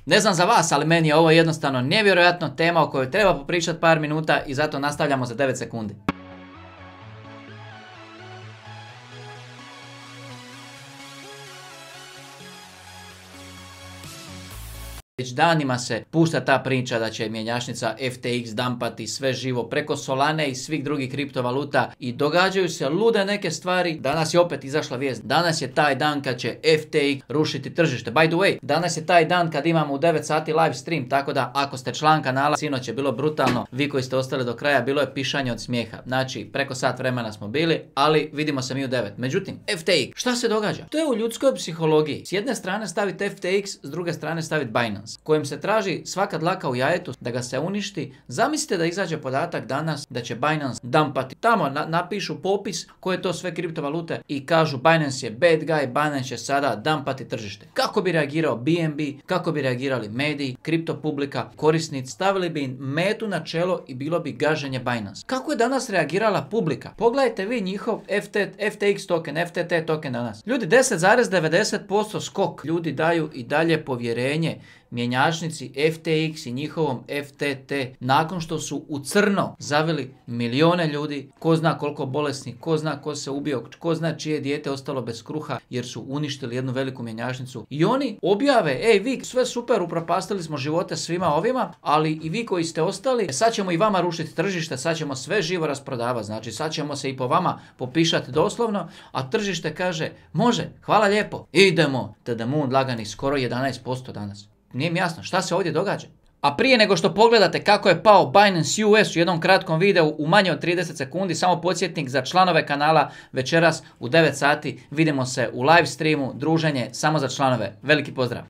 Ne znam za vas, ali meni je ovo jednostavno nevjerojatno tema o kojoj treba popričati par minuta i zato nastavljamo za 9 sekundi. Već danima se pušta ta priča da će mjenjačnica FTX dampati sve živo preko Solane i svih drugih kriptovaluta i događaju se lude neke stvari. Danas je opet izašla vijest. Danas je taj dan kad će FTX rušiti tržište. By the way, danas je taj dan kad imamo u 9 sati live stream, tako da ako ste član kanala, sinoć je bilo brutalno, vi koji ste ostali do kraja, bilo je pišanje od smijeha. Znači, preko sat vremena smo bili, ali vidimo se mi u 9. Međutim, FTX, šta se događa? To je u ljudskoj psihologiji. S jedne strane staviti FTX, s druge strane staviti Binance, kojem se traži svaka dlaka u jajetu da ga se uništi. Zamislite da izađe podatak danas da će Binance dumpati. Tamo napišu popis koje to sve kriptovalute i kažu Binance je bad guy, Binance će sada dumpati tržište. Kako bi reagirao BNB, kako bi reagirali mediji, kripto publika, korisnici, stavili bi im metu na čelo i bilo bi gaženje Binance. Kako je danas reagirala publika? Pogledajte vi njihov FTX token, FTT token danas. Ljudi, 10,90% skok. Ljudi daju i dalje povjerenje mjenjačnici FTX i njihovom FTT nakon što su u crno zavili milijone ljudi, ko zna koliko bolesni, ko zna ko se ubio, ko zna čije dijete ostalo bez kruha jer su uništili jednu veliku mjenjačnicu. I oni objave, ej vi sve super, upropastili smo živote svima ovima, ali i vi koji ste ostali, sad ćemo i vama rušiti tržište, sad ćemo sve živo rasprodavati, znači sad ćemo se i po vama popišati doslovno, a tržište kaže, može, hvala lijepo, idemo, the moon lagani skoro 11% danas. Nije mi jasno šta se ovdje događa. A prije nego što pogledate kako je pao Binance US u jednom kratkom videu u manje od 30 sekundi, samo podsjetnik za članove kanala, večeras u 9 sati vidimo se u live streamu, druženje samo za članove. Veliki pozdrav!